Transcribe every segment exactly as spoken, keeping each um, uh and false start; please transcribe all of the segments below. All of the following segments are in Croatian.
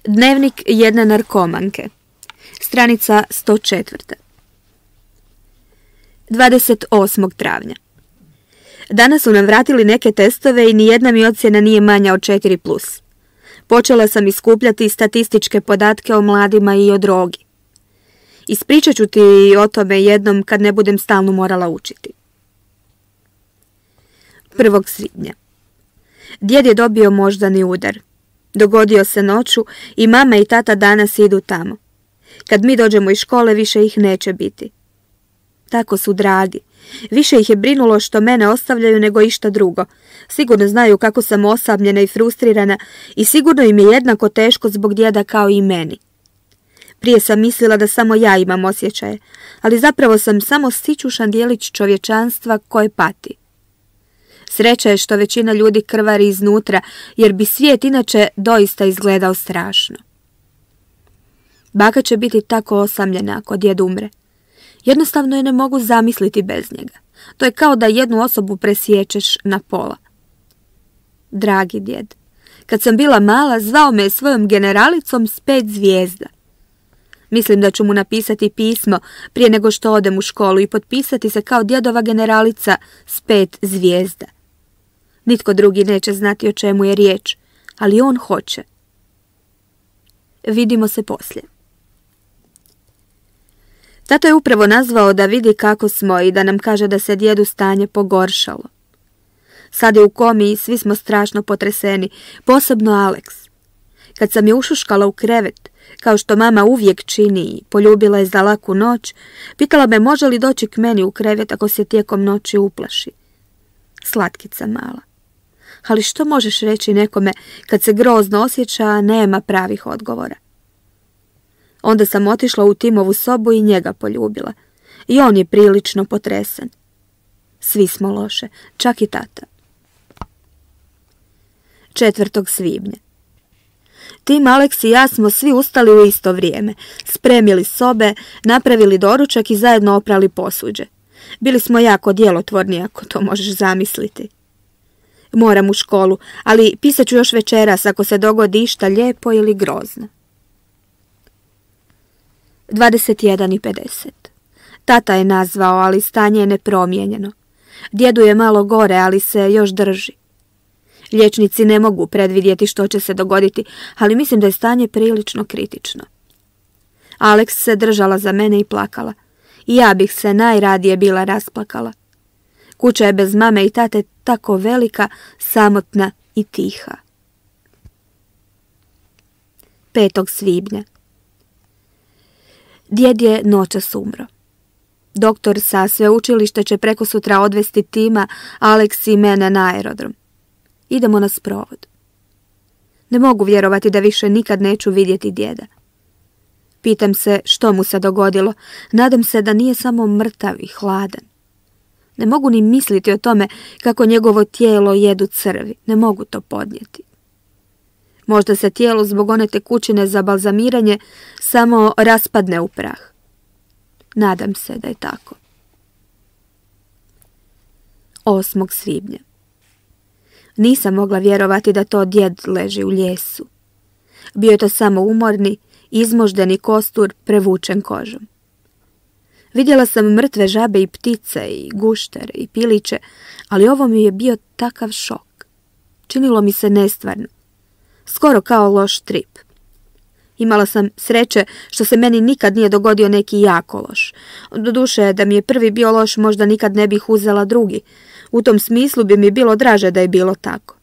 Dnevnik jedne narkomanke. Stranica sto četiri. dvadeset osmog travnja. Danas su nam vratili neke testove i nijedna mi ocjena nije manja od četiri plus. Počela sam iskupljati statističke podatke o mladima i o drogi. Ispričat ću ti o tome jednom kad ne budem stalno morala učiti. prvog svibnja. Djed je dobio moždani udar. Dogodio se noću i mama i tata danas idu tamo. Kad mi dođemo iz škole, više ih neće biti. Tako su dragi. Više ih je brinulo što mene ostavljaju nego išta drugo. Sigurno znaju kako sam osamljena i frustrirana i sigurno im je jednako teško zbog djeda kao i meni. Prije sam mislila da samo ja imam osjećaje, ali zapravo sam samo sićušan dijelić čovječanstva koje pati. Sreća je što većina ljudi krvari iznutra, jer bi svijet inače doista izgledao strašno. Baka će biti tako osamljena ako djed umre. Jednostavno je ne mogu zamisliti bez njega. To je kao da jednu osobu presiječeš na pola. Dragi djed, kad sam bila mala, zvao me svojom generalicom s pet zvijezda. Mislim da ću mu napisati pismo prije nego što odem u školu i potpisati se kao djedova generalica s pet zvijezda. Nitko drugi neće znati o čemu je riječ, ali on hoće. Vidimo se poslije. Tato je upravo nazvao da vidi kako smo i da nam kaže da se djedu stanje pogoršalo. Sad je u komi i svi smo strašno potreseni, posebno Alex. Kad sam je ušuškala u krevet, kao što mama uvijek čini i poljubila je za laku noć, pitala me može li doći k meni u krevet ako se tijekom noći uplaši. Slatkica mala. Ali što možeš reći nekome kad se grozno osjeća, a nema pravih odgovora? Onda sam otišla u Timovu sobu i njega poljubila. I on je prilično potresen. Svi smo loše, čak i tata. četvrtog svibnja. Tim, Alex i ja smo svi ustali u isto vrijeme, spremili sobe, napravili doručak i zajedno oprali posuđe. Bili smo jako djelotvorni, ako to možeš zamisliti. Moram u školu, ali pisat ću još večeras ako se dogodi išta lijepo ili grozno. dvadeset jedan i pedeset. Tata je nazvao, ali stanje je nepromijenjeno. Djedu je malo gore, ali se još drži. Liječnici ne mogu predvidjeti što će se dogoditi, ali mislim da je stanje prilično kritično. Alex se držala za mene i plakala. I ja bih se najradije bila rasplakala. Kuća je bez mame i tate tako velika, samotna i tiha. petog svibnja. Djed je noćas umro. Doktor sa sveučilišta će preko sutra odvesti Tima, Alex i mene na aerodrom. Idemo na sprovod. Ne mogu vjerovati da više nikad neću vidjeti djeda. Pitam se što mu se dogodilo. Nadam se da nije samo mrtav i hladan. Ne mogu ni misliti o tome kako njegovo tijelo jedu crvi. Ne mogu to podnijeti. Možda se tijelo zbog one tekućine za balzamiranje samo raspadne u prah. Nadam se da je tako. osmog svibnja. Nisam mogla vjerovati da to djed leži u lijesu. Bio je to samo umorni, izmoždeni kostur prevučen kožom. Vidjela sam mrtve žabe i ptice i guštere i piliće, ali ovo mi je bio takav šok. Činilo mi se nestvarno. Skoro kao loš trip. Imala sam sreće što se meni nikad nije dogodio neki jako loš. Doduše, da mi je prvi bio loš, možda nikad ne bih uzela drugi. U tom smislu bi mi bilo draže da je bilo tako.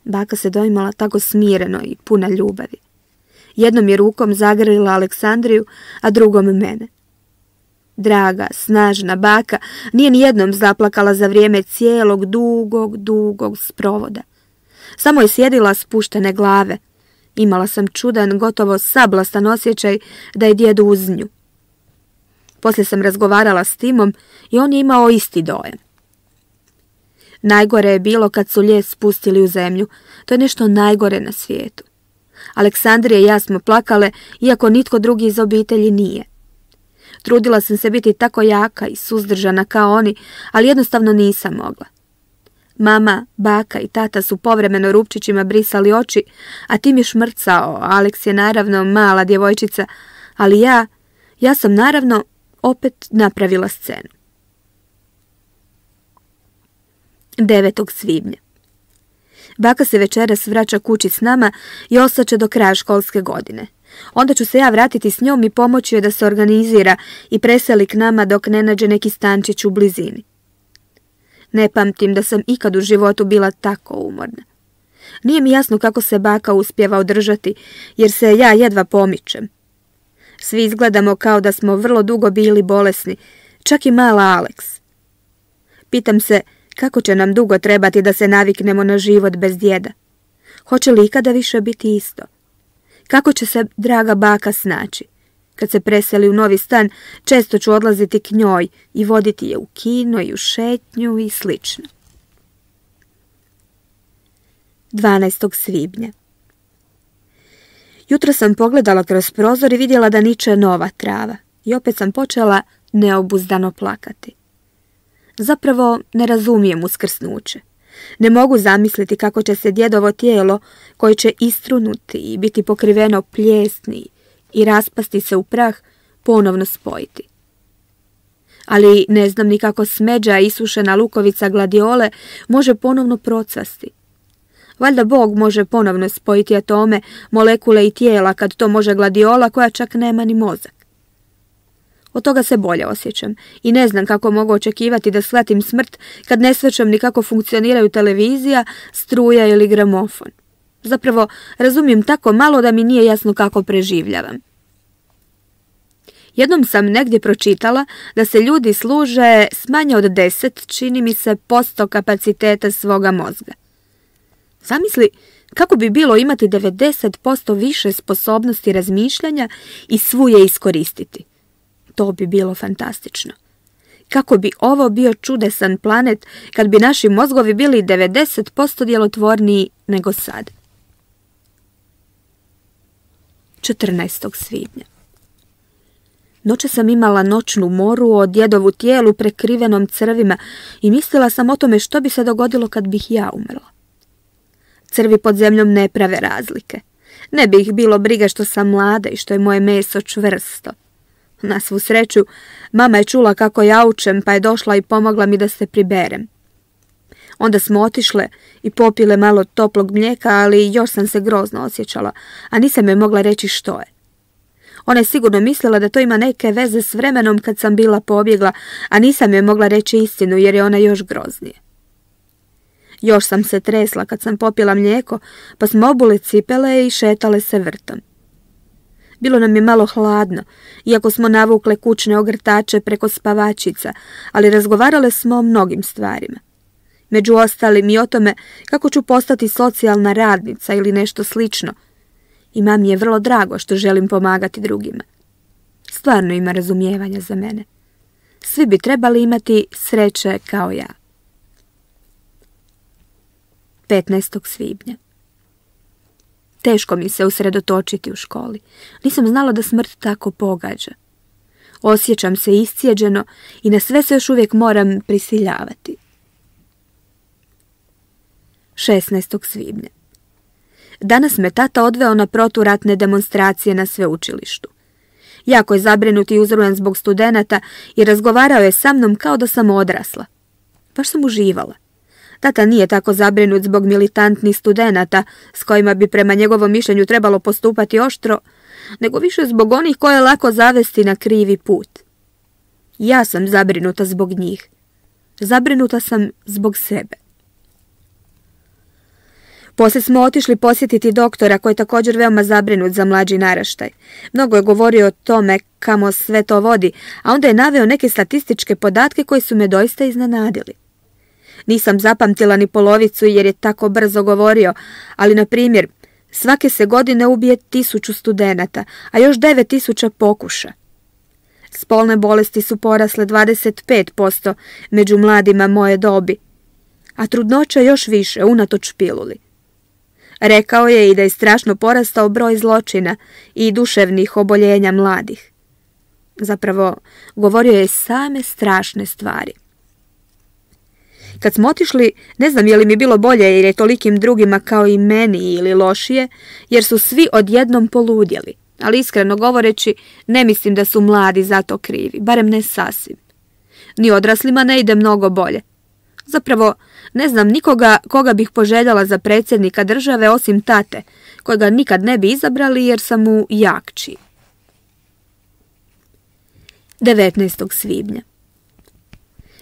Baka se doimala tako smireno i puna ljubavi. Jednom je rukom zagrlila Aleksandriju, a drugom mene. Draga, snažna baka nije ni jednom zaplakala za vrijeme cijelog dugog, dugog sprovoda. Samo je sjedila spuštene glave. Imala sam čudan, gotovo sablastan osjećaj da je djed uz nju. Poslije sam razgovarala s Timom i on je imao isti dojam. Najgore je bilo kad su lijes spustili u zemlju. To je nešto najgore na svijetu. Aleksandrija i ja smo plakale, iako nitko drugi iz obitelji nije. Trudila sam se biti tako jaka i suzdržana kao oni, ali jednostavno nisam mogla. Mama, baka i tata su povremeno rupčićima brisali oči, a Tim je šmrcao. Alex je naravno mala djevojčica, ali ja, ja sam naravno opet napravila scenu. devetog svibnja. Baka se večeras vraća kući s nama i ostaće do kraja školske godine. Onda ću se ja vratiti s njom i pomoći joj da se organizira i preseli k nama dok ne nađe neki stančić u blizini. Ne pamtim da sam ikad u životu bila tako umorna. Nije mi jasno kako se baka uspijeva održati, jer se ja jedva pomičem. Svi izgledamo kao da smo vrlo dugo bili bolesni, čak i mala Alex. Pitam se kako će nam dugo trebati da se naviknemo na život bez djeda. Hoće li ikada više biti isto? Kako će se draga baka snaći? Kad se preseli u novi stan, često ću odlaziti k njoj i voditi je u kino i u šetnju i slično. dvanaestog svibnja. Jutro sam pogledala kroz prozor i vidjela da niče nova trava i opet sam počela neobuzdano plakati. Zapravo ne razumijem uskrsnuće. Ne mogu zamisliti kako će se djedovo tijelo, koje će istrunuti i biti pokriveno pljesni i raspasti se u prah, ponovno spojiti. Ali ne znam ni kako smeđa i isušena lukovica gladiole može ponovno procvasti. Valjda Bog može ponovno spojiti atome, molekule i tijela kad to može gladiola koja čak nema ni mozak. Od toga se bolje osjećam i ne znam kako mogu očekivati da shvatim smrt kad ne shvaćam ni kako funkcioniraju televizija, struja ili gramofon. Zapravo, razumijem tako malo da mi nije jasno kako preživljavam. Jednom sam negdje pročitala da se ljudi služe s manje od deset, čini mi se, posto kapaciteta svoga mozga. Zamisli kako bi bilo imati devedeset posto više sposobnosti razmišljanja i svu je iskoristiti. To bi bilo fantastično. Kako bi ovo bio čudesan planet kad bi naši mozgovi bili devedeset posto djelotvorniji nego sad. četrnaestog svibnja. Noće sam imala noćnu moru o djedovu tijelu prekrivenom crvima i mislila sam o tome što bi se dogodilo kad bih ja umrla. Crvi pod zemljom ne prave razlike. Ne bi ih bilo briga što sam mlada i što je moje meso čvrsto. Na svu sreću, mama je čula kako jaučem pa je došla i pomogla mi da se priberem. Onda smo otišle i popile malo toplog mlijeka, ali još sam se grozno osjećala, a nisam joj mogla reći što je. Ona je sigurno mislila da to ima neke veze s vremenom kad sam bila pobjegla, a nisam joj mogla reći istinu jer je ona još groznije. Još sam se tresla kad sam popila mlijeko, pa smo obule cipele i šetale se vrtom. Bilo nam je malo hladno, iako smo navukle kućne ogrtače preko spavačica, ali razgovarale smo o mnogim stvarima. Među ostalim i o tome kako ću postati socijalna radnica ili nešto slično. I mami je vrlo drago što želim pomagati drugima. Stvarno ima razumijevanja za mene. Svi bi trebali imati sreće kao ja. petnaestog svibnja. Teško mi se usredotočiti u školi. Nisam znala da smrt tako pogađa. Osjećam se iscijeđeno i na sve se još uvijek moram prisiljavati. šesnaestog svibnja. Danas me tata odveo na proturatne demonstracije na sveučilištu. Jako je zabrinut i uzrujan zbog studenata i razgovarao je sa mnom kao da sam odrasla. Baš sam uživala. Tata nije tako zabrinut zbog militantnih studenata, s kojima bi prema njegovom mišljenju trebalo postupati oštro, nego više zbog onih koje je lako zavesti na krivi put. Ja sam zabrinuta zbog njih. Zabrinuta sam zbog sebe. Poslije smo otišli posjetiti doktora koji je također veoma zabrinut za mlađi naraštaj. Mnogo je govorio o tome kamo sve to vodi, a onda je naveo neke statističke podatke koji su me doista iznenadili. Nisam zapamtila ni polovicu jer je tako brzo govorio, ali na primjer, svake se godine ubije tisuću studenata, a još devet tisuća pokuša. Spolne bolesti su porasle dvadeset pet posto među mladima moje dobi, a trudnoća još više unatoč piluli. Rekao je i da je strašno porastao broj zločina i duševnih oboljenja mladih. Zapravo, govorio je same strašne stvari. Kad smo otišli, ne znam je li mi bilo bolje jer je tolikim drugima kao i meni ili lošije, jer su svi odjednom poludjeli. Ali iskreno govoreći, ne mislim da su mladi za to krivi, barem ne sasvim. Ni odraslima ne ide mnogo bolje. Zapravo, ne znam nikoga koga bih poželjala za predsjednika države osim tate, kojega nikad ne bi izabrali jer sam mu jakči. devetnaestog svibnja.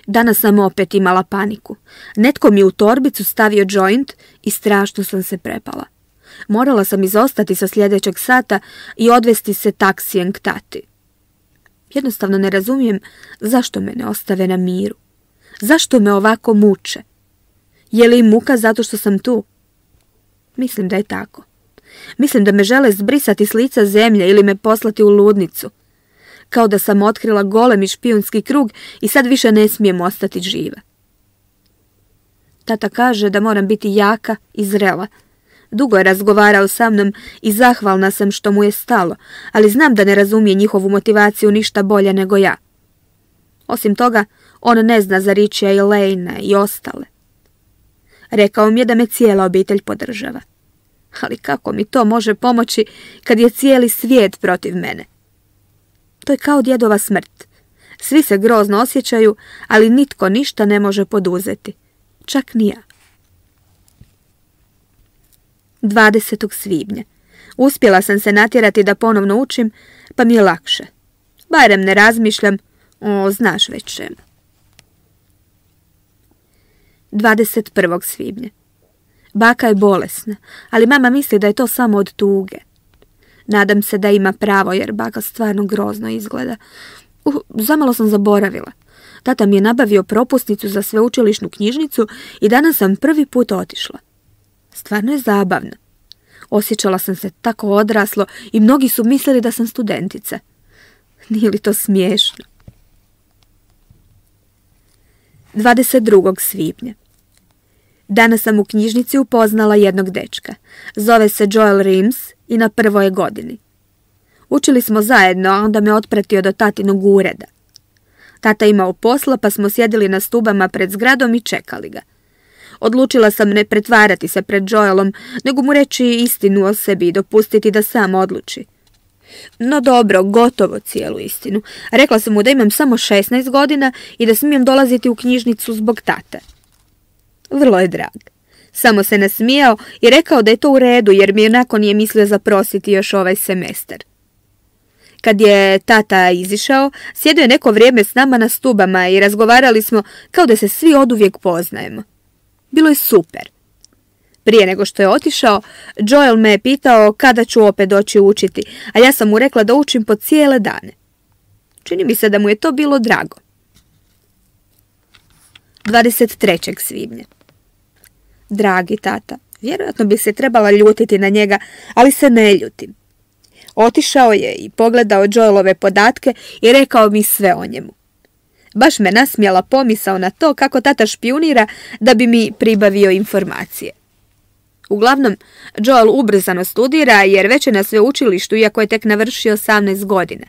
Danas sam opet imala paniku. Netko mi u torbicu stavio joint i strašno sam se prepala. Morala sam izostati sa sljedećeg sata i odvesti se taksijem k tati. Jednostavno ne razumijem zašto me ne ostave na miru. Zašto me ovako muče? Je li im muka zato što sam tu? Mislim da je tako. Mislim da me žele zbrisati s lica zemlje ili me poslati u ludnicu. Kao da sam otkrila golemi špijunski krug i sad više ne smijem ostati živa. Tata kaže da moram biti jaka i zrela. Dugo je razgovarao sa mnom i zahvalna sam što mu je stalo, ali znam da ne razumije njihovu motivaciju ništa bolje nego ja. Osim toga, on ne zna za Richija i Lejna i ostale. Rekao mi je da me cijela obitelj podržava. Ali kako mi to može pomoći kad je cijeli svijet protiv mene? To je kao djedova smrt. Svi se grozno osjećaju, ali nitko ništa ne može poduzeti. Čak ni ja. dvadesetog svibnja. Uspjela sam se natjerati da ponovno učim, pa mi je lakše. Barem ne razmišljam o znaš već čemu. dvadeset prvog svibnja. Baka je bolesna, ali mama misli da je to samo od tuge. Nadam se da ima pravo jer baka stvarno grozno izgleda. Uh, zamalo sam zaboravila. Tata mi je nabavio propusnicu za sveučilišnu knjižnicu i danas sam prvi put otišla. Stvarno je zabavno. Osjećala sam se tako odraslo i mnogi su mislili da sam studentica. Nije li to smiješno? dvadeset drugog svibnja. Danas sam u knjižnici upoznala jednog dečka. Zove se Joel Rims i na prvoj je godini. Učili smo zajedno, a onda me otpratio do tatinog ureda. Tata imao posla, pa smo sjedili na stubama pred zgradom i čekali ga. Odlučila sam ne pretvarati se pred Joelom, nego mu reći istinu o sebi i dopustiti da sam odluči. No dobro, gotovo cijelu istinu. Rekla sam mu da imam samo šesnaest godina i da smijem dolaziti u knjižnicu zbog tate. Vrlo je drag. Samo se nasmijao i rekao da je to u redu jer mi onako nije mislio zaprositi još ovaj semestar. Kad je tata izišao, sjedio je neko vrijeme s nama na stubama i razgovarali smo kao da se svi oduvijek poznajemo. Bilo je super. Prije nego što je otišao, Joel me je pitao kada ću opet doći učiti, a ja sam mu rekla da učim po cijele dane. Čini mi se da mu je to bilo drago. dvadeset trećeg svibnja. Dragi tata, vjerojatno bi se trebala ljutiti na njega, ali se ne ljutim. Otišao je i pogledao Joelove podatke i rekao mi sve o njemu. Baš me nasmijala pomisao na to kako tata špijunira da bi mi pribavio informacije. Uglavnom, Joel ubrzano studira jer već je na sveučilištu iako je tek navršio osamnaest godina.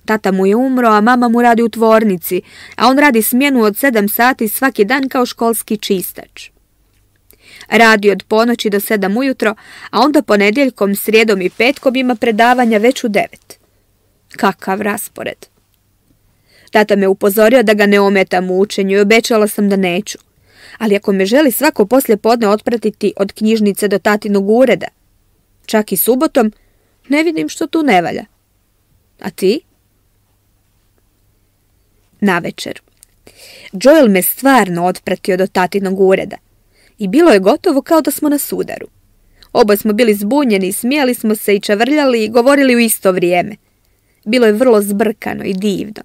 Tata mu je umro, a mama mu radi u tvornici, a on radi smjenu od sedam sati svaki dan kao školski čistač. Radi od ponoći do sedam ujutro, a onda ponedjeljkom, srijedom i petkom ima predavanja već u devet. Kakav raspored. Tata me upozorio da ga ne ometam u učenju i obećala sam da neću. Ali ako me želi svako poslje podne otpratiti od knjižnice do tatinog ureda, čak i subotom, ne vidim što tu ne valja. A ti? Navečer. Joel me stvarno otpratio do tatinog ureda i bilo je gotovo kao da smo na sudaru. Oboje smo bili zbunjeni, smijali smo se i čavrljali i govorili u isto vrijeme. Bilo je vrlo zbrkano i divno.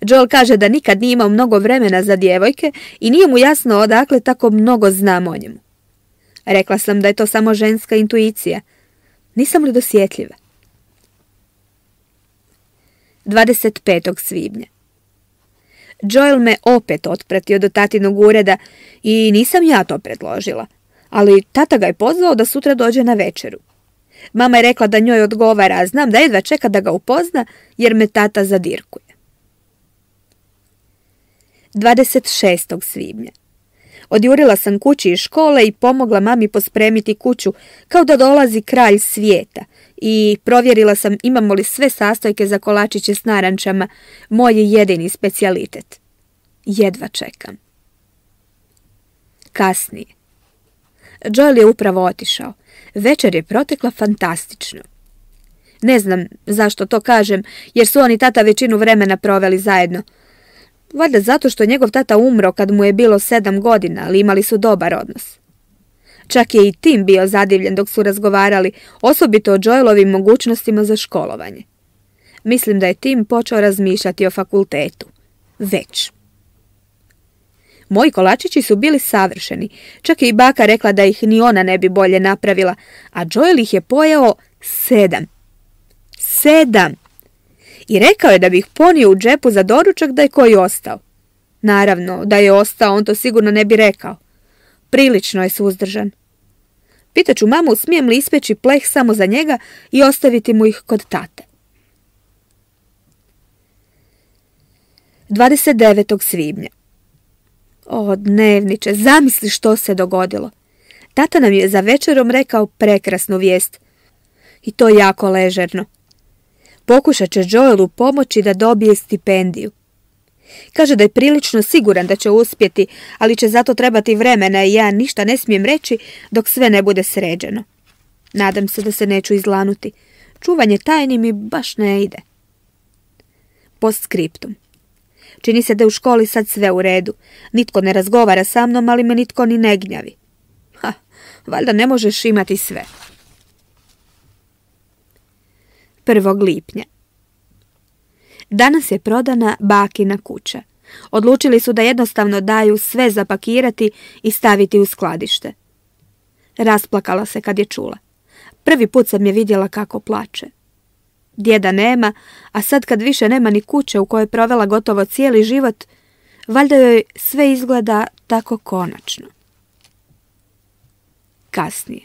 Joel kaže da nikad nije imao mnogo vremena za djevojke i nije mu jasno odakle tako mnogo znam o njemu. Rekla sam da je to samo ženska intuicija. Nisam li dosjetljiva? dvadeset petog svibnja. Joel me opet otpratio do tatinog ureda i nisam ja to predložila, ali tata ga je pozvao da sutra dođe na večeru. Mama je rekla da njoj odgovara, a znam da jedva čeka da ga upozna jer me tata zadirkuje. dvadeset šestog svibnja. Odjurila sam kući iz škole i pomogla mami pospremiti kuću kao da dolazi kralj svijeta i provjerila sam imamo li sve sastojke za kolačiće s narančama, moj jedini specijalitet. Jedva čekam. Kasnije. Joel je upravo otišao. Večer je protekla fantastično. Ne znam zašto to kažem, jer su on i tata većinu vremena proveli zajedno. Valjda zato što je njegov tata umro kad mu je bilo sedam godina, ali imali su dobar odnos. Čak je i Tim bio zadivljen dok su razgovarali, osobito o Joelovim mogućnostima za školovanje. Mislim da je Tim počeo razmišljati o fakultetu. Već. Moji kolačići su bili savršeni, čak je i baka rekla da ih ni ona ne bi bolje napravila, a Joel ih je pojeo sedam. Sedam! I rekao je da bi ih ponio u džepu za doručak da je koji ostao. Naravno, da je ostao, on to sigurno ne bi rekao. Prilično je suzdržan. Pitaću mamu smijem li ispeći pleh samo za njega i ostaviti mu ih kod tate. dvadeset devetog svibnja. O, dnevniče, zamisli što se dogodilo. Tata nam je za večerom rekao prekrasnu vijest. I to jako ležerno. Pokušat će Joelu pomoći da dobije stipendiju. Kaže da je prilično siguran da će uspjeti, ali će zato trebati vremena i ja ništa ne smijem reći dok sve ne bude sređeno. Nadam se da se neću izlanuti. Čuvanje tajni mi baš ne ide. Postskriptum. Čini se da je u školi sad sve u redu. Nitko ne razgovara sa mnom, ali me nitko ni ne gnjavi. Ha, valjda ne možeš imati sve. prvog lipnja. Danas je prodana bakina kuća. Odlučili su da jednostavno daju sve zapakirati i staviti u skladište. Rasplakala se kad je čula. Prvi put sam je vidjela kako plače. Djeda nema, a sad kad više nema ni kuće u kojoj je provela gotovo cijeli život, valjda joj sve izgleda tako konačno. Kasnije.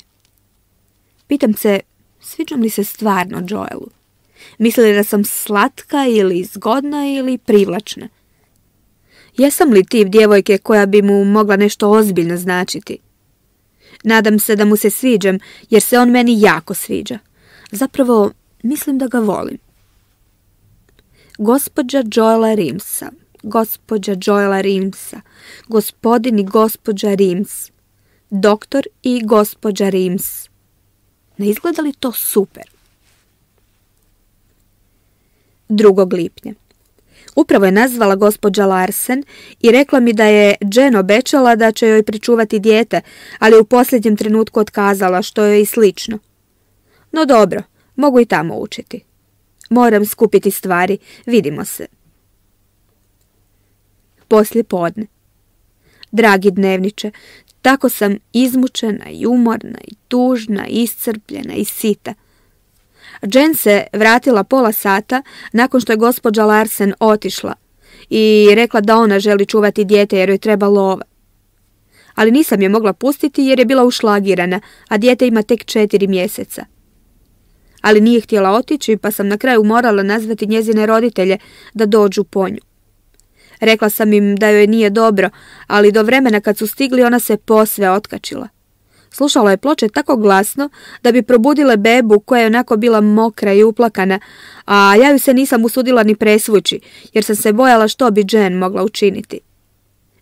Pitam se, sviđam li se stvarno Joelu? Misli da sam slatka ili zgodna ili privlačna? Jesam li tip djevojke koja bi mu mogla nešto ozbiljno značiti? Nadam se da mu se sviđam, jer se on meni jako sviđa. Zapravo, mislim da ga volim. Gospođa Joela Rimsa, gospođa Joela Rimsa, gospodin i gospođa Rims, doktor i gospođa Rims. Ne izgleda li to super? drugog lipnja. Upravo je nazvala gospođa Larsen i rekla mi da je Jen obećala da će joj pričuvati dijete, ali u posljednjem trenutku otkazala, što je i slično. No dobro, mogu i tamo učiti. Moram skupiti stvari, vidimo se. Poslije podne. Dragi dnevniče, tako sam izmučena i umorna i tužna, iscrpljena i sita. Jen se vratila pola sata nakon što je gospođa Larsen otišla i rekla da ona želi čuvati dijete jer joj treba lova. Ali nisam je mogla pustiti jer je bila ušlagirana, a dijete ima tek četiri mjeseca. Ali nije htjela otići, pa sam na kraju morala nazvati njezine roditelje da dođu po nju. Rekla sam im da joj nije dobro, ali do vremena kad su stigli ona se posve otkačila. Slušala je ploče tako glasno da bi probudile bebu koja je onako bila mokra i uplakana, a ja ju se nisam usudila ni presvući, jer sam se bojala što bi Jen mogla učiniti.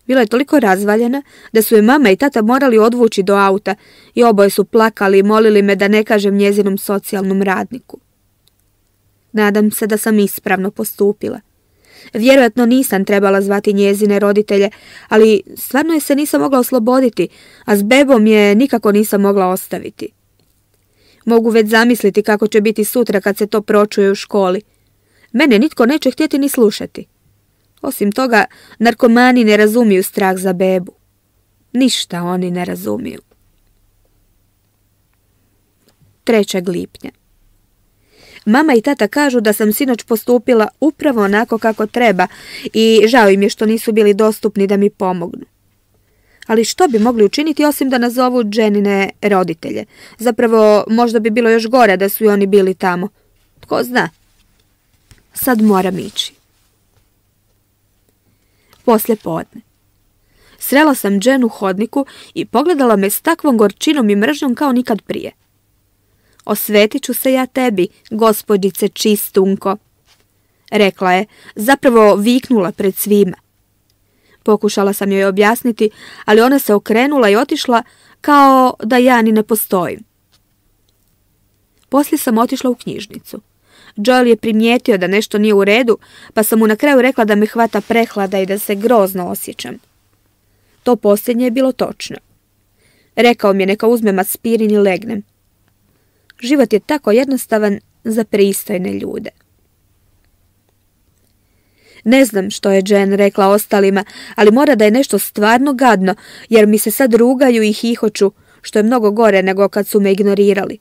Bila je toliko razvaljena da su je mama i tata morali odvući do auta i oboje su plakali i molili me da ne kažem njezinom socijalnom radniku. Nadam se da sam ispravno postupila. Vjerojatno nisam trebala zvati njezine roditelje, ali stvarno je se nisam mogla osloboditi, a s bebom je nikako nisam mogla ostaviti. Mogu već zamisliti kako će biti sutra kad se to pročuje u školi. Mene nitko neće htjeti ni slušati. Osim toga, narkomani ne razumiju strah za bebu. Ništa oni ne razumiju. trećeg lipnja. Mama i tata kažu da sam sinoć postupila upravo onako kako treba i žao im je što nisu bili dostupni da mi pomognu. Ali što bi mogli učiniti osim da nazovu Jenine roditelje? Zapravo, možda bi bilo još gore da su i oni bili tamo. Tko zna? Sad moram ići. poslje podne. Srela sam Jen u hodniku i pogledala me s takvom gorčinom i mržnjom kao nikad prije. Osvetit ću se ja tebi, gospođice Čistunko, rekla je, zapravo viknula pred svima. Pokušala sam joj objasniti, ali ona se okrenula i otišla kao da ja ni ne postojim. Poslije sam otišla u knjižnicu. Joel je primijetio da nešto nije u redu, pa sam mu na kraju rekla da me hvata prehlada i da se grozno osjećam. To posljednje je bilo točno. Rekao mi je neka uzmem aspirin i legnem. Život je tako jednostavan za pristojne ljude. Ne znam što je Jen rekla ostalima, ali mora da je nešto stvarno gadno, jer mi se sad rugaju i hihoću, što je mnogo gore nego kad su me ignorirali.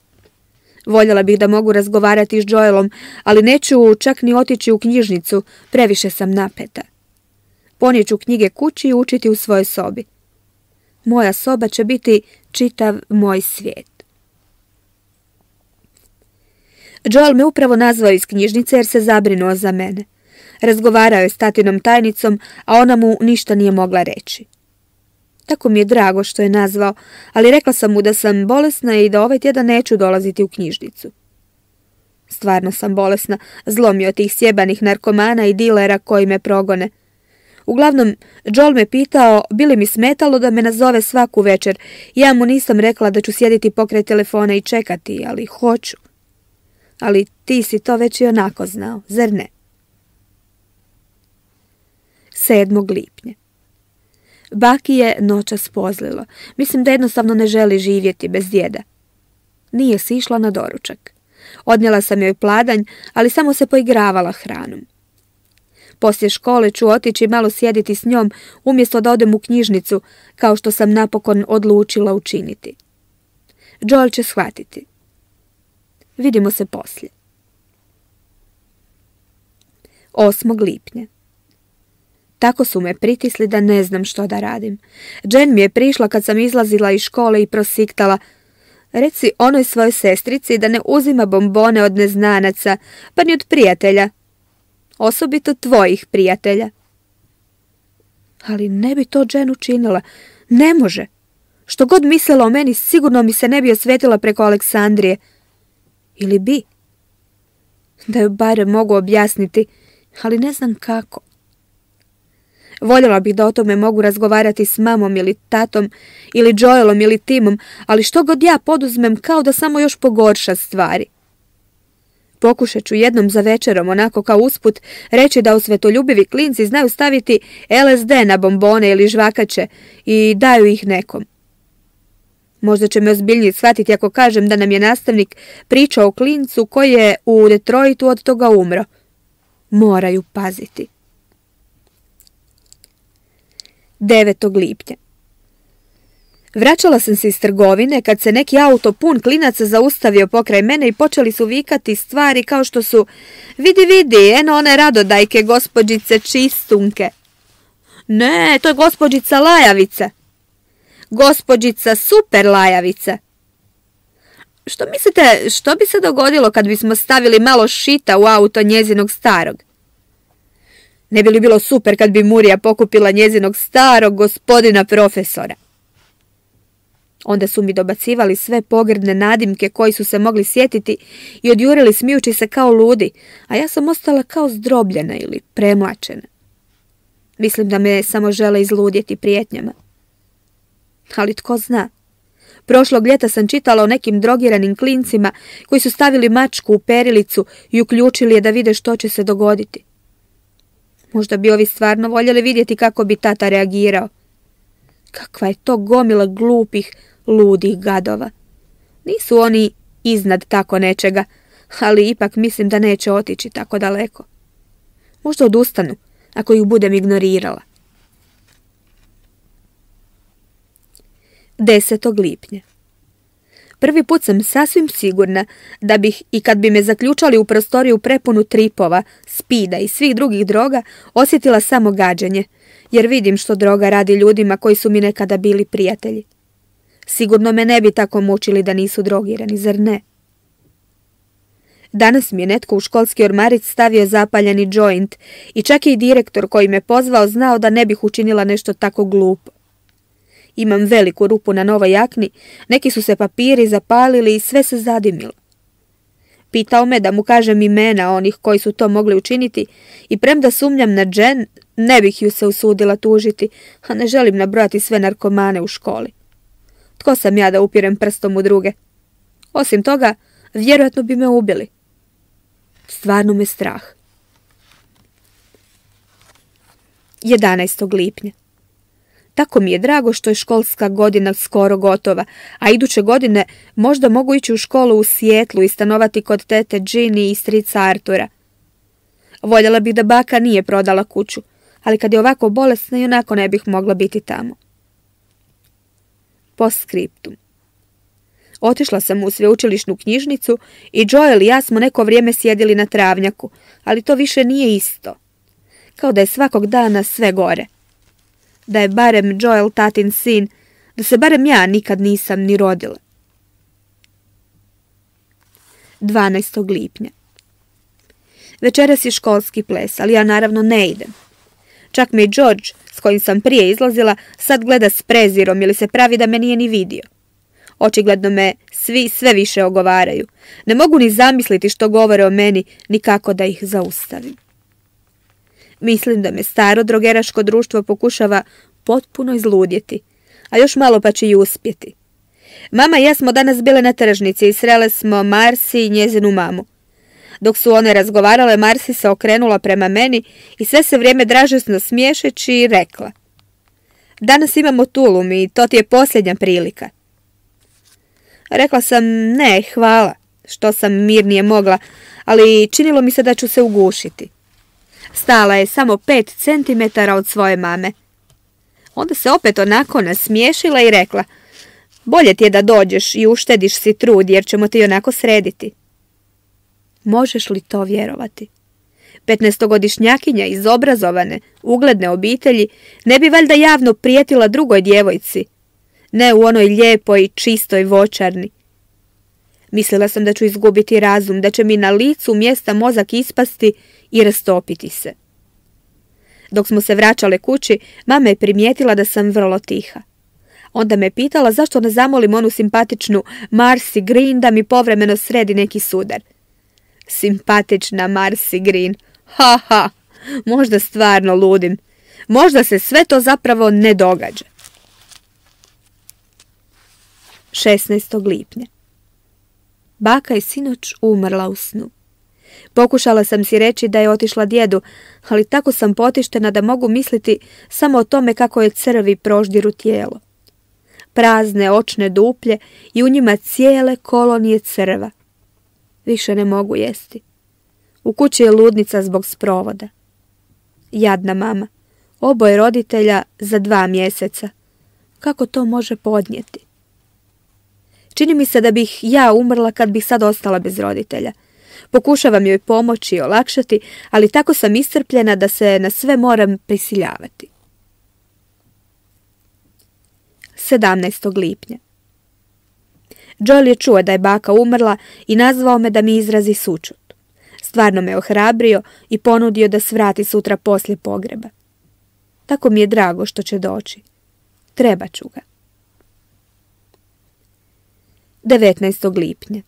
Voljela bih da mogu razgovarati s Joelom, ali neću čak ni otići u knjižnicu, previše sam napeta. Ponijeću knjige kući i učiti u svojoj sobi. Moja soba će biti čitav moj svijet. Joel me upravo nazvao iz knjižnice jer se zabrinuo za mene. Razgovarao je s tatinom tajnicom, a ona mu ništa nije mogla reći. Tako mi je drago što je nazvao, ali rekla sam mu da sam bolesna i da ovaj tjedan neću dolaziti u knjižnicu. Stvarno sam bolesna, zlomio tih sjebanih narkomana i dilera koji me progone. Uglavnom, Joel me pitao bi li mi smetalo da me nazove svaku večer. Ja mu nisam rekla da ću sjediti pokraj telefona i čekati, ali hoću. Ali ti si to već i onako znao, zar ne? sedmog lipnja. Baki je noćas pozlilo. Mislim da jednostavno ne želi živjeti bez djeda. Nije si išla na doručak. Odnijela sam joj pladanj, ali samo se poigravala hranom. Poslije škole ću otići malo sjediti s njom, umjesto da odem u knjižnicu, kao što sam napokon odlučila učiniti. Joel će shvatiti. Vidimo se poslije. osmog lipnja. Tako su me pritisli da ne znam što da radim. Jen mi je prišla kad sam izlazila iz škole i prosiktala: reci onoj svojoj sestrici da ne uzima bombone od neznanaca, pa ni od prijatelja. Osobito tvojih prijatelja. Ali ne bi to Jen učinila. Ne može. Što god mislila o meni, sigurno mi se ne bi osvetila preko Aleksandrije. Ili bi. Da joj barem mogu objasniti, ali ne znam kako. Voljela bih da o tome mogu razgovarati s mamom ili tatom, ili Joelom ili Timom, ali što god ja poduzmem kao da samo još pogorša stvari. Pokušat ću jednom za večerom, onako kao usput, reći da osvetoljubivi klinci znaju staviti L S D na bombone ili žvakače i daju ih nekom. Možda će me ozbiljnije shvatiti ako kažem da nam je nastavnik pričao o klincu koji je u Detroitu od toga umro. Moraju paziti. devetog lipnja. Vraćala sam se iz trgovine kad se neki auto pun klinaca zaustavio pokraj mene i počeli su vikati stvari kao što su: vidi, vidi, eno one radodajke gospođice Čistunke. Ne, to je gospođica Lajavica. Gospođica Super Lajavica. Što mislite, što bi se dogodilo kad bismo stavili malo šita u auto njezinog starog? Ne bi li bilo super kad bi Murija pokupila njezinog starog gospodina profesora? Onda su mi dobacivali sve pogrdne nadimke koji su se mogli sjetiti i odjurili smijući se kao ludi, a ja sam ostala kao zdrobljena ili premlačena. Mislim da me samo žele izludjeti prijetnjama. Ali tko zna? Prošlog ljeta sam čitala o nekim drogiranim klincima koji su stavili mačku u perilicu i uključili je da vide što će se dogoditi. Možda bi ovi stvarno voljeli vidjeti kako bi tata reagirao. Kakva je to gomila glupih, ludih gadova. Nisu oni iznad tako nečega, ali ipak mislim da neće otići tako daleko. Možda odustanu, ako ih budem ignorirala. desetog lipnja. Prvi put sam sasvim sigurna da bih, i kad bi me zaključali u prostoriju prepunu tripova, spida i svih drugih droga, osjetila samo gađenje, jer vidim što droga radi ljudima koji su mi nekada bili prijatelji. Sigurno me ne bi tako mučili da nisu drogirani, zar ne? Danas mi je netko u školski ormarić stavio zapaljeni joint i čak i direktor koji me pozvao znao da ne bih učinila nešto tako glupo. Imam veliku rupu na novoj jakni, neki su se papiri zapalili i sve se zadimilo. Pitao me da mu kažem imena onih koji su to mogli učiniti i premda sumnjam na Jen, ne bih ju se usudila tužiti, a ne želim nabrojati sve narkomane u školi. Tko sam ja da upirem prstom u druge? Osim toga, vjerojatno bi me ubili. Stvarno me strah. jedanaestog lipnja. Tako mi je drago što je školska godina skoro gotova, a iduće godine možda mogu ići u školu u Sijetlu i stanovati kod tete Ginny i strica Artura. Voljela bih da baka nije prodala kuću, ali kad je ovako bolesna i onako ne bih mogla biti tamo. Postscriptum. Otišla sam u sveučilišnu knjižnicu i Joel i ja smo neko vrijeme sjedili na travnjaku, ali to više nije isto. Kao da je svakog dana sve gore. Da je barem Joel tatin sin, da se barem ja nikad nisam ni rodila. dvanaestog lipnja. Večeras je školski ples, ali ja naravno ne idem. Čak me i George, s kojim sam prije izlazila, sad gleda s prezirom ili se pravi da me nije ni vidio. Očigledno me svi sve više ogovaraju. Ne mogu ni zamisliti što govore o meni, ni kako da ih zaustavim. Mislim da me staro drogeraško društvo pokušava potpuno izludjeti, a još malo pa će i uspjeti. Mama i ja smo danas bile na tržnici i srele smo Marsi i njezinu mamu. Dok su one razgovarale, Marsi se okrenula prema meni i sve se vrijeme dražesno smiješeći i rekla: danas imamo tulum i to ti je posljednja prilika. Rekla sam ne, hvala, što sam mirnije mogla, ali činilo mi se da ću se ugušiti. Stala je samo pet centimetara od svoje mame. Onda se opet onako nasmiješila i rekla: bolje ti je da dođeš i uštediš si trud jer ćemo ti onako srediti. Možeš li to vjerovati? Petnaestogodišnjakinja iz obrazovane, ugledne obitelji ne bi valjda javno prijetila drugoj djevojci, ne u onoj lijepoj, čistoj voćarni. Mislila sam da ću izgubiti razum, da će mi na licu mjesta mozak ispasti i rastopiti se. Dok smo se vraćale kući, mama je primijetila da sam vrlo tiha. Onda me pitala zašto ne zamolim onu simpatičnu Marcy Green da mi povremeno sredi neki sudar. Simpatična Marcy Green. Ha, ha, možda stvarno ludim. Možda se sve to zapravo ne događa. šesnaestog lipnja. Baka je sinoć umrla u snu. Pokušala sam si reći da je otišla djedu, ali tako sam potištena da mogu misliti samo o tome kako je crvi proždiru tijelo. Prazne očne duplje i u njima cijele kolonije crva. Više ne mogu jesti. U kući je ludnica zbog sprovoda. Jadna mama. Oboje roditelja za dva mjeseca. Kako to može podnijeti? Čini mi se da bih ja umrla kad bih sad ostala bez roditelja. Pokušavam joj pomoći i olakšati, ali tako sam iscrpljena da se na sve moram prisiljavati. sedamnaestog lipnja. Joel je čuo da je baka umrla i nazvao me da mi izrazi sućut. Stvarno me ohrabrio i ponudio da svrati sutra poslije pogreba. Tako mi je drago što će doći. Trebat ću ga. devetnaestog lipnja.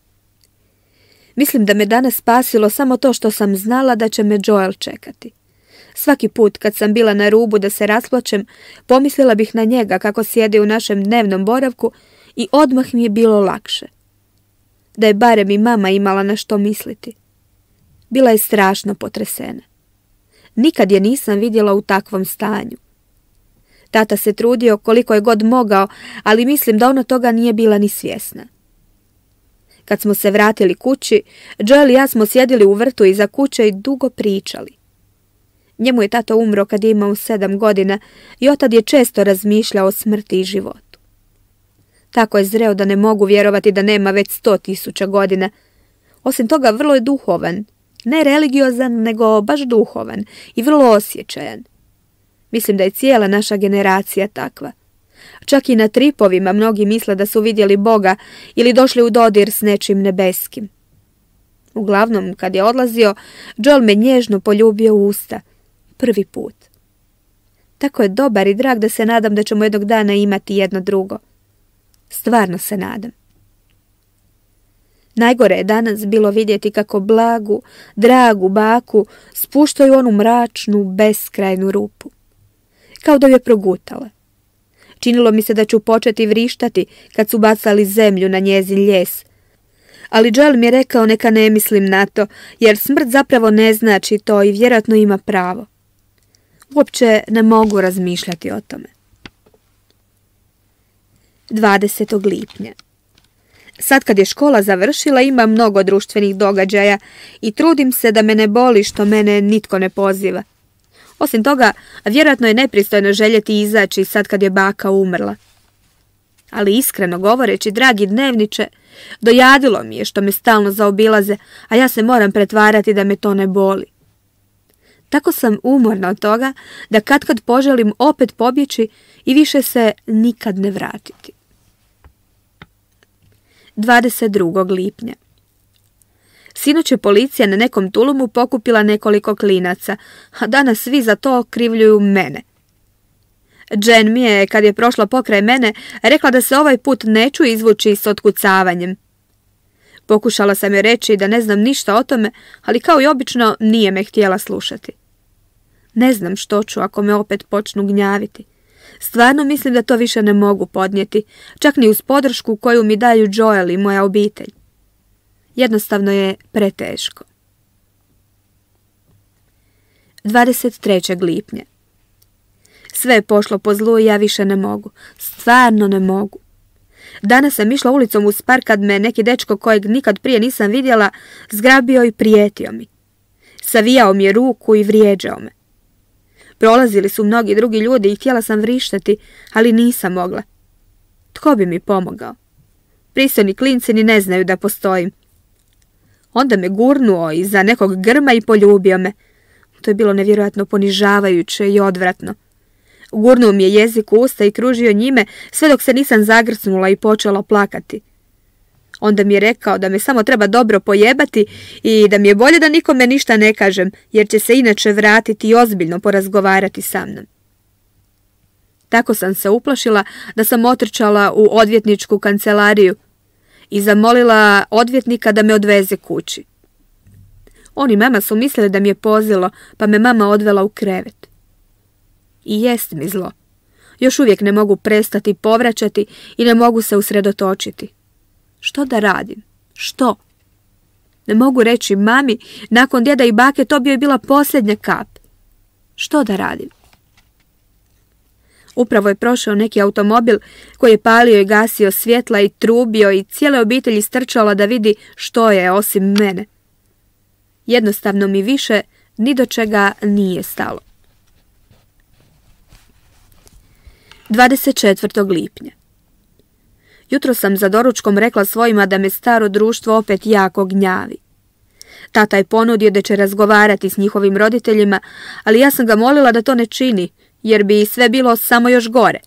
Mislim da me danas spasilo samo to što sam znala da će me Joel čekati. Svaki put kad sam bila na rubu da se rasplačem, pomislila bih na njega kako sjedi u našem dnevnom boravku i odmah mi je bilo lakše. Da je barem i mama imala na što misliti. Bila je strašno potresena. Nikad je nisam vidjela u takvom stanju. Tata se trudio koliko je god mogao, ali mislim da ona toga nije bila ni svjesna. Kad smo se vratili kući, Joel i ja smo sjedili u vrtu iza kuće i dugo pričali. Njemu je tata umro kad je imao sedam godina i otad je često razmišljao o smrti i životu. Tako je zreo da ne mogu vjerovati da nema već sto tisuća godina. Osim toga vrlo je duhovan, ne religiozan, nego baš duhovan i vrlo osjećajan. Mislim da je cijela naša generacija takva. Čak i na tripovima mnogi misle da su vidjeli Boga ili došli u dodir s nečim nebeskim. Uglavnom, kad je odlazio, Joel me nježno poljubio u usta. Prvi put. Tako je dobar i drag da se nadam da ćemo jednog dana imati jedno drugo. Stvarno se nadam. Najgore je danas bilo vidjeti kako blagu, dragu baku spuštaju onu mračnu, beskrajnu rupu. Kao da ju je progutala. Činilo mi se da ću početi vrištati kad su bacali zemlju na njezin ljes. Ali Joel mi je rekao neka ne mislim na to, jer smrt zapravo ne znači to i vjerojatno ima pravo. Uopće ne mogu razmišljati o tome. dvadesetog lipnja. Sad kad je škola završila, ima mnogo društvenih događaja i trudim se da me ne boli što mene nitko ne poziva. Osim toga, vjerojatno je nepristojno željeti izaći sad kad je baka umrla. Ali iskreno govoreći, dragi dnevniče, dojadilo mi je što me stalno zaobilaze, a ja se moram pretvarati da me to ne boli. Tako sam umorna od toga da katkad poželim opet pobjeći i više se nikad ne vratiti. dvadeset drugog lipnja. Sinoć je policija na nekom tulumu pokupila nekoliko klinaca, a danas svi za to okrivljuju mene. Jen mi je, kad je prošla pokraj mene, rekla da se ovaj put neću izvući s otkucavanjem. Pokušala sam joj reći da ne znam ništa o tome, ali kao i obično nije me htjela slušati. Ne znam što ću ako me opet počnu gnjaviti. Stvarno mislim da to više ne mogu podnijeti, čak ni uz podršku koju mi daju Joel i moja obitelj. Jednostavno je preteško. dvadeset trećeg lipnja. Sve je pošlo po zlu i ja više ne mogu. Stvarno ne mogu. Danas sam išla ulicom uz park kad me neki dečko kojeg nikad prije nisam vidjela zgrabio i prijetio mi. Savijao mi je ruku i vrijeđao me. Prolazili su mnogi drugi ljudi i htjela sam vrištati, ali nisam mogla. Tko bi mi pomogao? Pristojni klinci ni ne znaju da postojim. Onda me gurnuo iza nekog grma i poljubio me. To je bilo nevjerojatno ponižavajuće i odvratno. Gurnuo mi je jezik u usta i kružio njime sve dok se nisam zagrcnula i počela plakati. Onda mi je rekao da me samo treba dobro pojebati i da mi je bolje da nikome ništa ne kažem, jer će se inače vratiti i ozbiljno porazgovarati sa mnom. Tako sam se uplašila da sam otrčala u odvjetničku kancelariju i zamolila odvjetnika da me odveze kući. On i mama su mislili da mi je pozilo, pa me mama odvela u krevet. I jest mi zlo. Još uvijek ne mogu prestati povraćati i ne mogu se usredotočiti. Što da radim? Što? Ne mogu reći mami, nakon djeda i bake to bi joj bila posljednja kap. Što da radim? Upravo je prošao neki automobil koji je palio i gasio svjetla i trubio i cijele obitelji strčala da vidi što je osim mene. Jednostavno mi više ni do čega nije stalo. dvadeset četvrtog lipnja. Jutro sam za doručkom rekla svojima da me staro društvo opet jako gnjavi. Tata je ponudio da će razgovarati s njihovim roditeljima, ali ja sam ga molila da to ne čini, jer bi sve bilo samo još gore.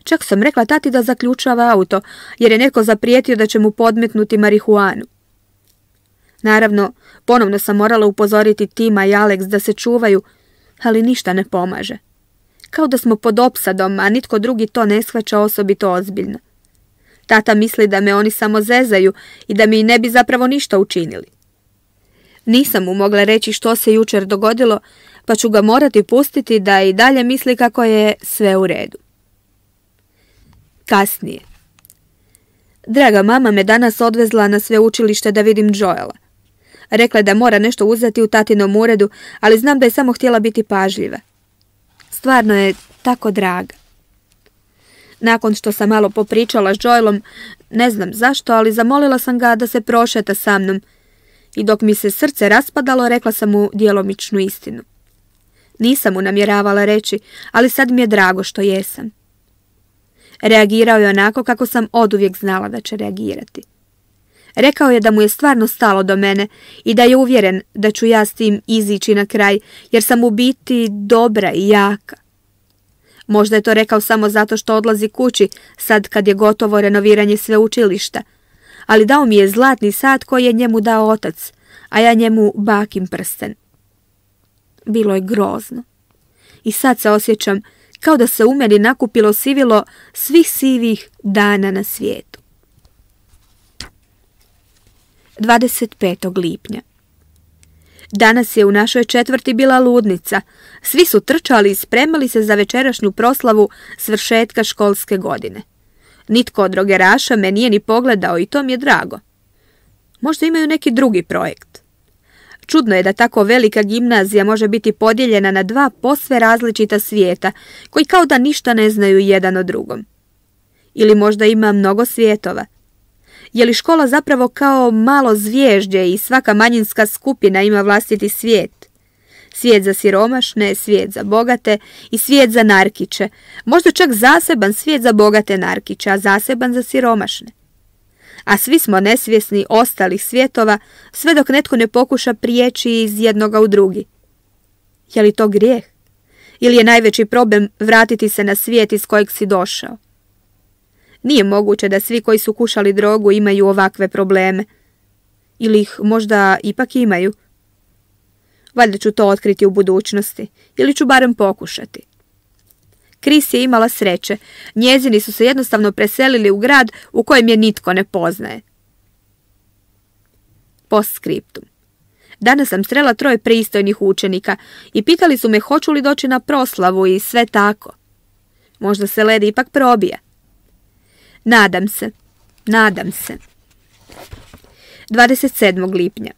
Čak sam rekla tati da zaključava auto, jer je netko zaprijetio da će mu podmetnuti marihuanu. Naravno, ponovno sam morala upozoriti Tima i Alex da se čuvaju, ali ništa ne pomaže. Kao da smo pod opsadom, a nitko drugi to ne shvaća osobito ozbiljno. Tata misli da me oni samo zezaju i da mi ne bi zapravo ništa učinili. Nisam mu mogla reći što se jučer dogodilo, pa ću ga morati pustiti da i dalje misli kako je sve u redu. Kasnije. Draga mama me danas odvezla na sveučilište da vidim Joela. Rekla je da mora nešto uzeti u tatinom uredu, ali znam da je samo htjela biti pažljiva. Stvarno je tako draga. Nakon što sam malo popričala s Joelom, ne znam zašto, ali zamolila sam ga da se prošeta sa mnom. I dok mi se srce raspadalo, rekla sam mu djelomičnu istinu. Nisam mu namjeravala reći, ali sad mi je drago što jesam. Reagirao je onako kako sam oduvijek znala da će reagirati. Rekao je da mu je stvarno stalo do mene i da je uvjeren da ću ja s tim izići na kraj, jer sam u biti dobra i jaka. Možda je to rekao samo zato što odlazi kući, sad kad je gotovo renoviranje sveučilišta, ali dao mi je zlatni sat koji je njemu dao otac, a ja njemu bakin prsten. Bilo je grozno. I sad se osjećam kao da se u meni nakupilo sivilo svih sivih dana na svijetu. dvadeset petog lipnja. Danas je u našoj četvrti bila ludnica. Svi su trčali i spremali se za večerašnju proslavu svršetka školske godine. Nitko od drogeraša me nije ni pogledao i to mi je drago. Možda imaju neki drugi projekt. Čudno je da tako velika gimnazija može biti podijeljena na dva posve različita svijeta, koji kao da ništa ne znaju jedan o drugom. Ili možda ima mnogo svijetova. Je li škola zapravo kao malo zvježđe i svaka manjinska skupina ima vlastiti svijet? Svijet za siromašne, svijet za bogate i svijet za narkiće. Možda čak zaseban svijet za bogate narkiće, a zaseban za siromašne. A svi smo nesvjesni ostalih svjetova, sve dok netko ne pokuša prijeći iz jednoga u drugi. Je li to grijeh? Ili je najveći problem vratiti se na svijet iz kojeg si došao? Nije moguće da svi koji su kušali drogu imaju ovakve probleme. Ili ih možda ipak imaju. Valjda ću to otkriti u budućnosti, ili ću barem pokušati. Kris je imala sreće. Njezini su se jednostavno preselili u grad u kojem je nitko ne poznaje. Postscriptum. Danas sam srela troje pristojnih učenika i pitali su me hoću li doći na proslavu i sve tako. Možda se led ipak probija. Nadam se, nadam se. dvadeset sedmog lipnja.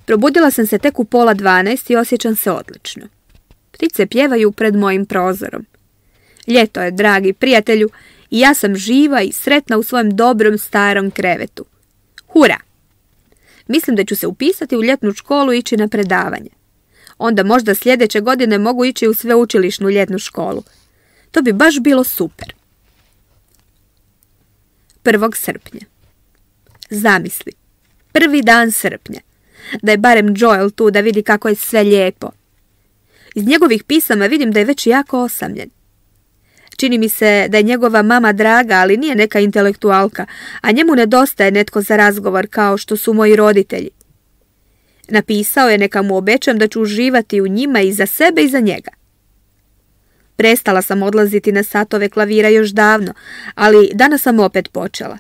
Probudila sam se tek u pola dvanaest i osjećam se odlično. Ptice pjevaju pred mojim prozorom. Ljeto je, dragi prijatelju, i ja sam živa i sretna u svojem dobrom starom krevetu. Hura! Mislim da ću se upisati u ljetnu školu i ići na predavanje. Onda možda sljedeće godine mogu ići u sveučilišnu ljetnu školu. To bi baš bilo super. prvog srpnja. Zamisli, prvi dan srpnja. Da je barem Joel tu da vidi kako je sve lijepo. Iz njegovih pisama vidim da je već jako osamljen. Čini mi se da je njegova mama draga, ali nije neka intelektualka, a njemu nedostaje netko za razgovor kao što su moji roditelji. Napisao je neka mu obećam da ću uživati u njima i za sebe i za njega. Prestala sam odlaziti na satove klavira još davno, ali danas sam opet počela.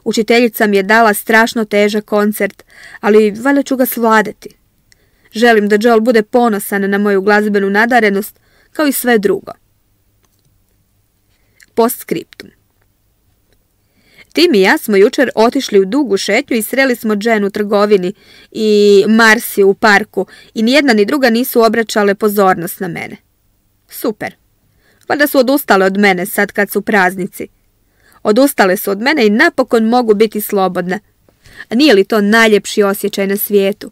Učiteljica mi je dala strašno težak koncert, ali valjda ću ga svladati. Želim da Joel bude ponosan na moju glazbenu nadarenost, kao i sve drugo. Postscriptum. Tim i ja smo jučer otišli u dugu šetnju i sreli smo Jen u trgovini i Marsi u parku i nijedna ni druga nisu obraćale pozornost na mene. Super. Valjda su odustale od mene sad kad su praznici. Odustale su od mene i napokon mogu biti slobodna. A nije li to najljepši osjećaj na svijetu?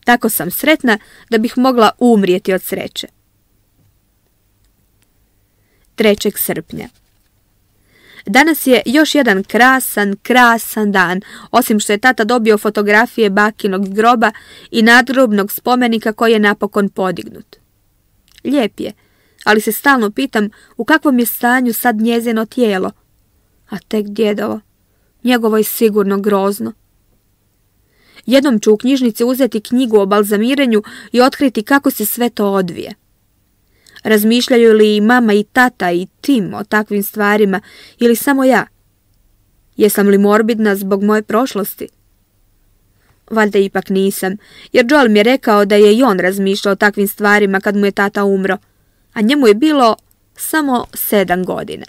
Tako sam sretna da bih mogla umrijeti od sreće. trećeg srpnja. Danas je još jedan krasan, krasan dan, osim što je tata dobio fotografije bakinog groba i nadgrobnog spomenika koji je napokon podignut. Lijep je, ali se stalno pitam u kakvom je stanju sad njezino tijelo. A tek djedovo, njegovo je sigurno grozno. Jednom ću u knjižnici uzeti knjigu o balzamiranju i otkriti kako se sve to odvije. Razmišljaju li i mama i tata i Tim o takvim stvarima ili samo ja? Jesam li morbidna zbog moje prošlosti? Valjda ipak nisam, jer Joel mi je rekao da je i on razmišljao o takvim stvarima kad mu je tata umro, a njemu je bilo samo sedam godina.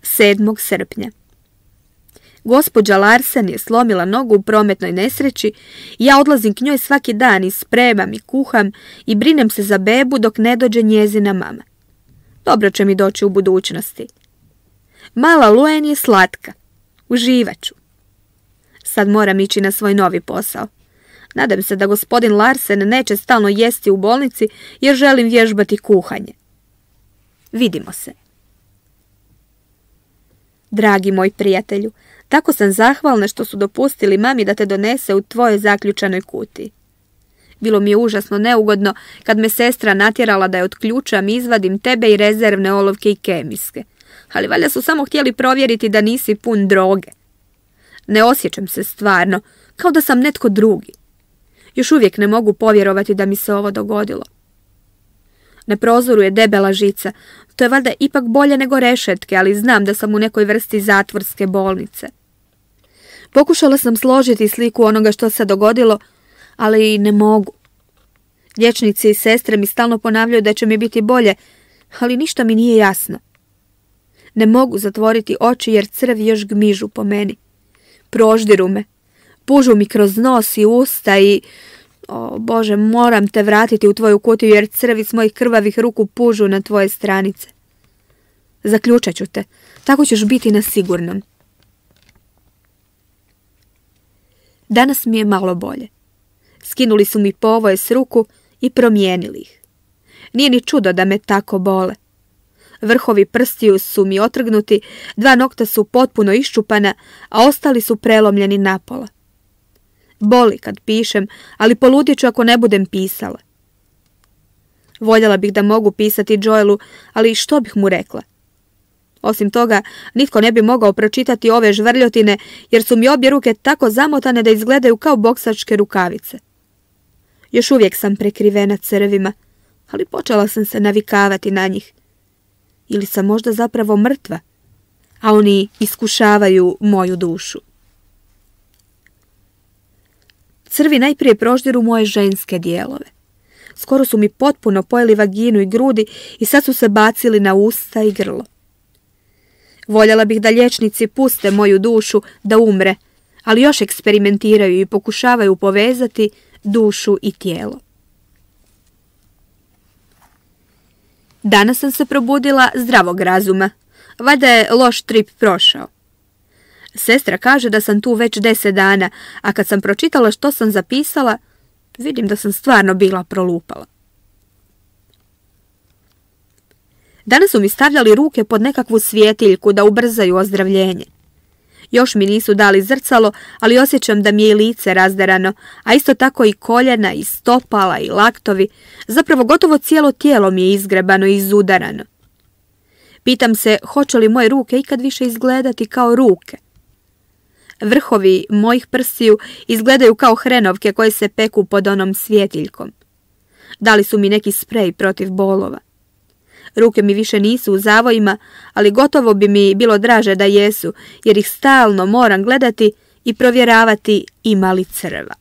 sedmog srpnja. Gospođa Larsen je slomila nogu u prometnoj nesreći i ja odlazim k njoj svaki dan i spremam i kuham i brinem se za bebu dok ne dođe njezina mama. Dobro će mi doći u budućnosti. Mala Luen je slatka. Uživat ću. Sad moram ići na svoj novi posao. Nadam se da gospodin Larsen neće stalno jesti u bolnici jer želim vježbati kuhanje. Vidimo se. Dragi moj prijatelju, tako sam zahvalna što su dopustili mami da te donese u tvojoj zaključanoj kutiji. Bilo mi je užasno neugodno kad me sestra natjerala da je otključam i izvadim tebe i rezervne olovke i kemijske. ali valjda su samo htjeli provjeriti da nisi pun droge. Ne osjećam se stvarno, kao da sam netko drugi. Još uvijek ne mogu povjerovati da mi se ovo dogodilo. Na prozoru je debela žica, to je valjda ipak bolje nego rešetke, ali znam da sam u nekoj vrsti zatvorske bolnice. Pokušala sam složiti sliku onoga što se dogodilo, ali ne mogu. Liječnici i sestre mi stalno ponavljaju da će mi biti bolje, ali ništa mi nije jasno. Ne mogu zatvoriti oči jer crvi još gmižu po meni. Proždiru me, pužu mi kroz nos i usta i... O Bože, moram te vratiti u tvoju kutiju jer crvi s mojih krvavih ruku pužu na tvoje stranice. Zaključat ću te, tako ćeš biti na sigurnom. Danas mi je malo bolje. Skinuli su mi povoje s ruku i promijenili ih. Nije ni čudo da me tako bole. Vrhovi prstiju su mi otrgnuti, dva nokta su potpuno iščupana, a ostali su prelomljeni napola. Boli kad pišem, ali poludjet ću ako ne budem pisala. Voljela bih da mogu pisati Joelu, ali što bih mu rekla? Osim toga, nitko ne bi mogao pročitati ove žvrljotine, jer su mi obje ruke tako zamotane da izgledaju kao boksačke rukavice. Još uvijek sam prekrivena crvima, ali počela sam se navikavati na njih. Ili sam možda zapravo mrtva, a oni iskušavaju moju dušu. Crvi najprije proždiru moje ženske dijelove. Skoro su mi potpuno pojeli vaginu i grudi i sad su se bacili na usta i grlo. Voljela bih da liječnici puste moju dušu da umre, ali još eksperimentiraju i pokušavaju povezati dušu i tijelo. Danas sam se probudila zdravog razuma. Valjda je loš trip prošao. Sestra kaže da sam tu već deset dana, a kad sam pročitala što sam zapisala, vidim da sam stvarno bila prolupala. Danas su mi stavljali ruke pod nekakvu svjetiljku da ubrzaju ozdravljenje. Još mi nisu dali zrcalo, ali osjećam da mi je i lice razderano, a isto tako i koljena, i stopala, i laktovi. Zapravo gotovo cijelo tijelo mi je izgrebano i izudarano. Pitam se hoće li moje ruke ikad više izgledati kao ruke. Vrhovi mojih prstiju izgledaju kao hrenovke koje se peku pod onom svjetiljkom. Dali su mi neki sprej protiv bolova. Ruke mi više nisu u zavojima, ali gotovo bi mi bilo draže da jesu, jer ih stalno moram gledati i provjeravati ima li crva.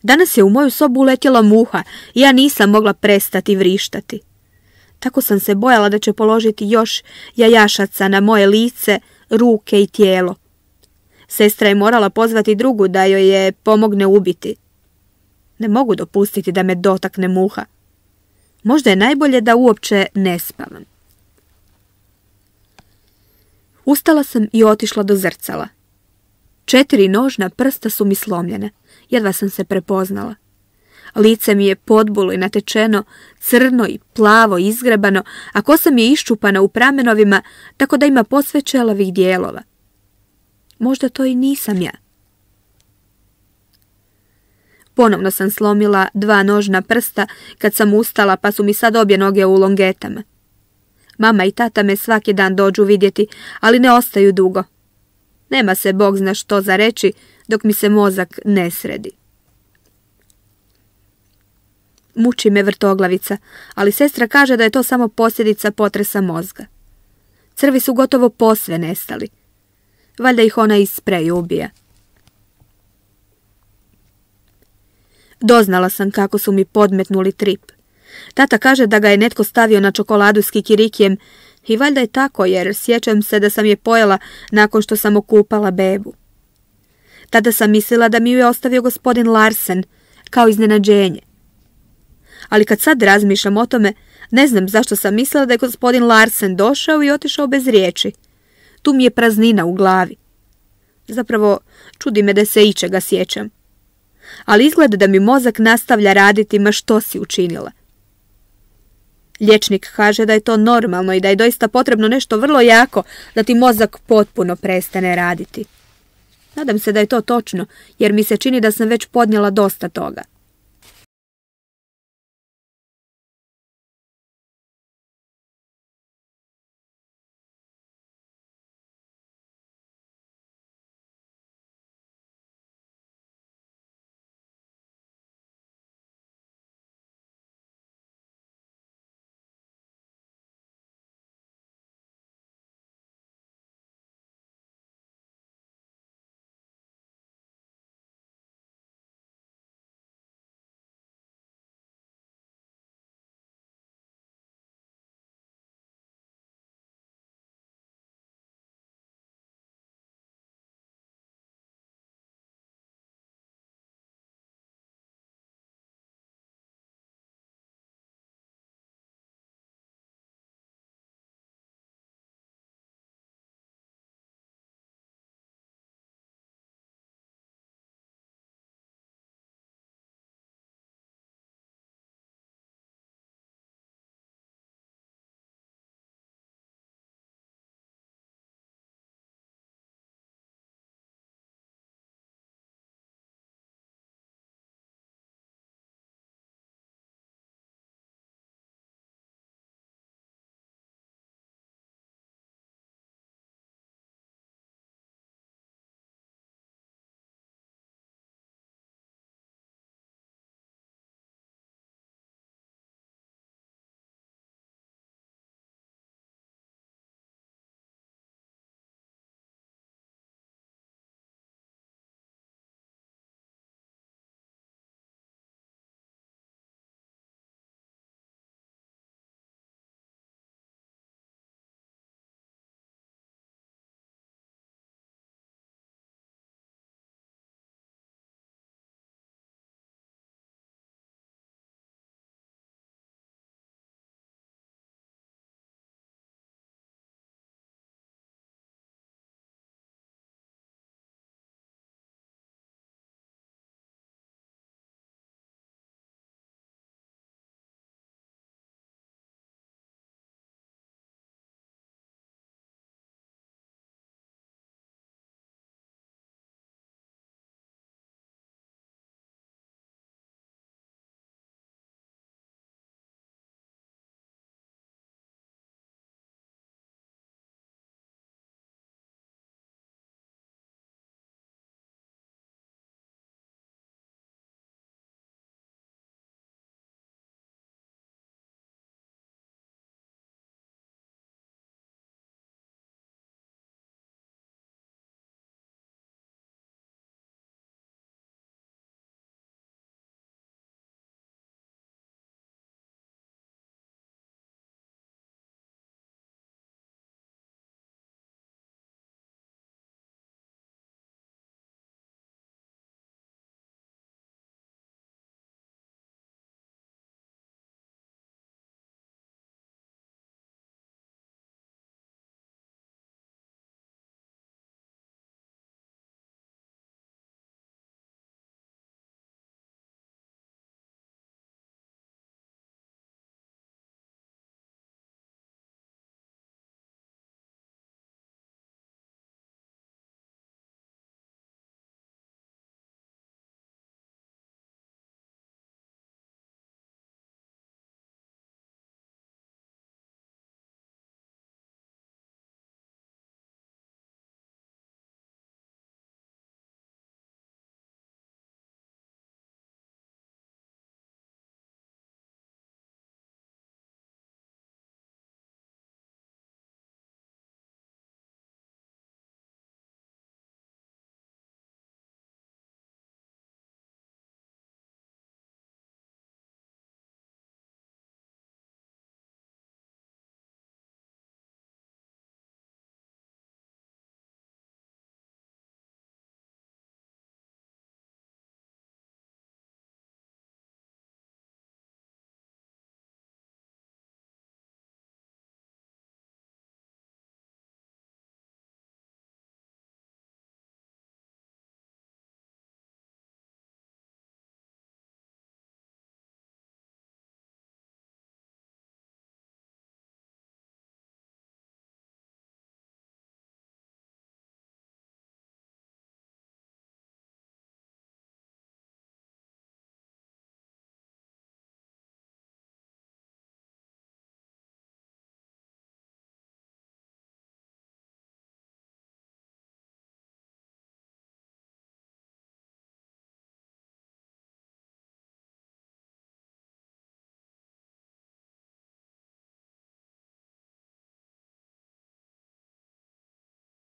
Danas je u moju sobu uletjela muha i ja nisam mogla prestati vrištati. Tako sam se bojala da će položiti još jajašaca na moje lice, ruke i tijelo. Sestra je morala pozvati drugu da joj je pomogne ubiti. Ne mogu dopustiti da me dotakne muha. Možda je najbolje da uopće ne spavam. Ustala sam i otišla do zrcala. Četiri nožna prsta su mi slomljene. Jedva sam se prepoznala. Lice mi je podbulo i natečeno, crno i plavo izgrebano, a kosa mi je iščupana u pramenovima, tako da ima posve čelavih dijelova. Možda to i nisam ja. Ponovno sam slomila dva nožna prsta kad sam ustala, pa su mi sad obje noge u longetama. Mama i tata me svaki dan dođu vidjeti, ali ne ostaju dugo. Nema se Bog zna što za reći dok mi se mozak ne sredi. Muči me vrtoglavica, ali sestra kaže da je to samo posljedica potresa mozga. Crvi su gotovo posve nestali. Valjda ih ona iz spreja ubija. Doznala sam kako su mi podmetnuli trip. Tata kaže da ga je netko stavio na čokoladu s kikirikijem i valjda je tako jer sjećam se da sam je pojela nakon što sam okupala bebu. Tada sam mislila da mi ju je ostavio gospodin Larsen kao iznenađenje. Ali kad sad razmišljam o tome, ne znam zašto sam mislila da je gospodin Larsen došao i otišao bez riječi. Tu mi je praznina u glavi. Zapravo, čudi me da se ičega sjećam. Ali izgleda da mi mozak nastavlja raditi ma što si učinila. Liječnik kaže da je to normalno i da je doista potrebno nešto vrlo jako da ti mozak potpuno prestane raditi. Nadam se da je to točno, jer mi se čini da sam već podnijela dosta toga.